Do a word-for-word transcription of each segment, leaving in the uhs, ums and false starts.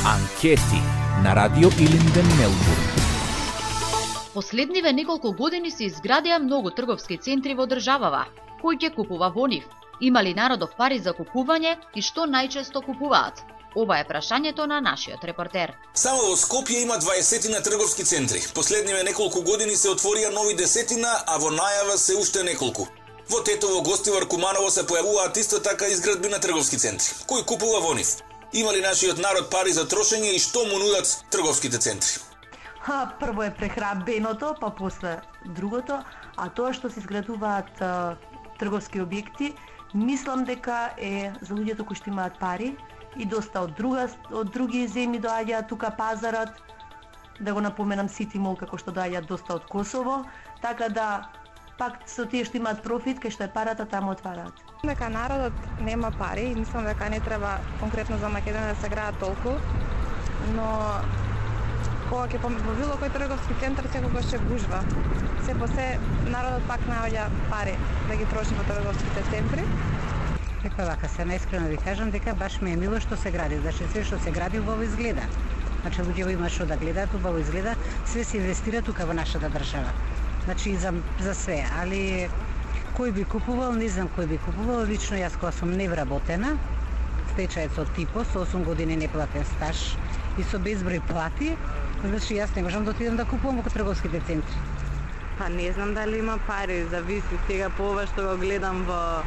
Анкети на Радио Илинден, Мелбурн. Последниве неколку години се изградија многу трговски центри во државава. Кој ќе купува во нив? Има ли народов пари за купување и што најчесто купуваат? Ова е прашањето на нашиот репортер. Само во Скопје има дваесетина трговски центри. Последниве неколку години се отворија нови десетина, а во најава се уште неколку. Во Тетово, Гостивар, Куманово се појавуваат исто така изградби на трговски центри. Кој купува во нив? Има ли нашиот народ пари за трошење и што му нудат трговските центри? Ха, прво е прехранбеното, па после другото, а тоа што се изградуваат а, трговски објекти, мислам дека е за луѓето кои што имаат пари и доста од друга од други земји доаѓаат тука пазарот. Да го напоменам Сити Мол како што доаѓаат доста од Косово, така да пак со тие што имаат профит, кај што е парата, таму отвараат. Дека народот нема пари и мислам дека не треба конкретно за Македонија да се граат толку, но кога ќе во било кој трговски центар секогаш ќе гужва. Се по се народот пак наоѓа пари да ги троши во трговските центри. Дека вака се наискрено ви кажам дека баш ми е мило што се гради, значи се што се гради убаво изгледа. Значи луѓето има што да гледаат, убаво изгледа, све се инвестира тука во нашата држава. Значи за за све, али кој би купувал, не знам кој би купувал, лично јас кога сум невработена, стечаец од Типо, со осум години неплатен стаж и со безброј плати, значи јас не можам да отидам да купувам во трговските центри. Па не знам дали има пари, зависи сега по ова што го гледам во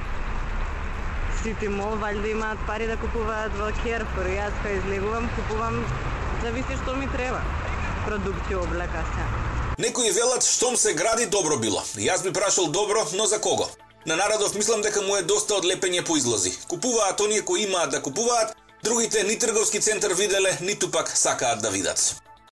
Сити Мол, валјда имаат пари да купуваат во Керфур. Јас кога излегувам, купувам, зависи што ми треба. Продукција, облека се. Некои велат штом се гради добро било. Јас би прашал добро, но за кого? На народов мислам дека му е доста од лепење по излози. Купуваат оние кои имаат да купуваат, другите ни трговски центар виделе, ниту пак сакаат да видат.